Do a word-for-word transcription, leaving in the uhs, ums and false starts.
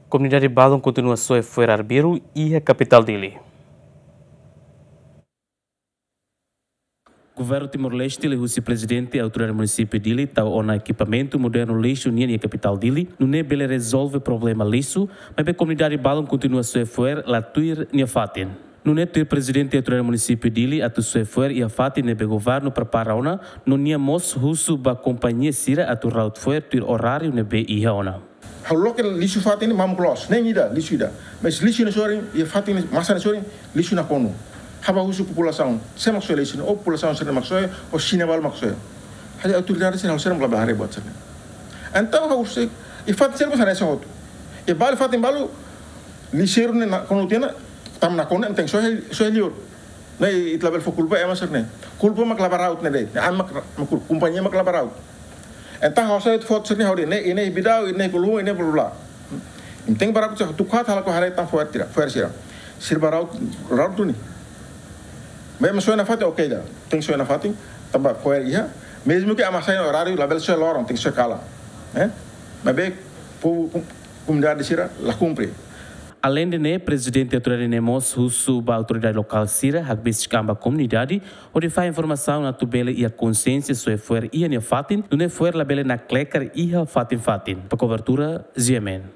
Komunidade balun kontinua soe fo'er arbiru iha kapitál Dili. Governu Timor-Leste liuhusi Prezidente Autoridade Munisípiu Dili tau ona ekipamentu modernu lixu nian iha kapitál Dili, nune'e bele rezolve problema lixu, maibé komunidade balun kontinua soe fo'er la tuir nia fatin. Nune'e tuir Prezidente Autoridade Munisípiu Dili atu soe fo'er iha fatin ne'ebé governu prepara ona, no nia mós husu ba kompañia sira atu raut fo'er tuir oráriu ne'ebé iha ona. Ha'u loke lixu fatin ne'e mamuk loos, nein ida, lixu ida. Mas lixu ne'e sorin, iha fatin ne'e, masa ne'e sorin, lixu nakonu. Ha'u bá husu populasaun, sé mak soe lixu ne'e, ou populasaun sira mak soe, ou sira balu mak soe. Ha'u autoridade sira, ha'u sira mak labele haree buat sira-ne'e. Entaun ha'u sei, iha fatin sira mak hanesan hotu. Iha balu fatin balu, lixeiru ne'e nakonu tiha ona, tanba nakonu ne'e tenke soe, soe liur. Ne'e ita labele fó kulpa ema sira-ne'e. Kulpa mak la bá raut ne'e de'it. Ne'e ema mak, mak kulpa, kompañia mak la bá raut. Entaun ha'u hasai foto sira-ne'e ha'u dehan, ne'e, ne'e Bidau, ne'e Kulhun, ne'e blá blá. Entaun bá raut sira, tuku haat halo ko haree tan fo'er sira, fo'er sira. Sira bá raut, raut duni. Maibé ema soe nafatin, oke ida. Tenke soe nafatin, tanba fo'er iha. Mezmu ke ema hasai oráriu, labele soe loron, tenke soe kalan. Eh? Maibé, povu, kom-, komunidade sira la kumpre. Aleinde ne'e, Prezidente Autoridade ne'e mós husu ba autoridade lokál sira hakbesik an ba komunidade, hodi fahe informasaun atu bele iha konsiénsia soe fo'er iha nia fatin, nune'e fo'er labele nakleker iha fatin-fatin. Ba kobertura, G M N.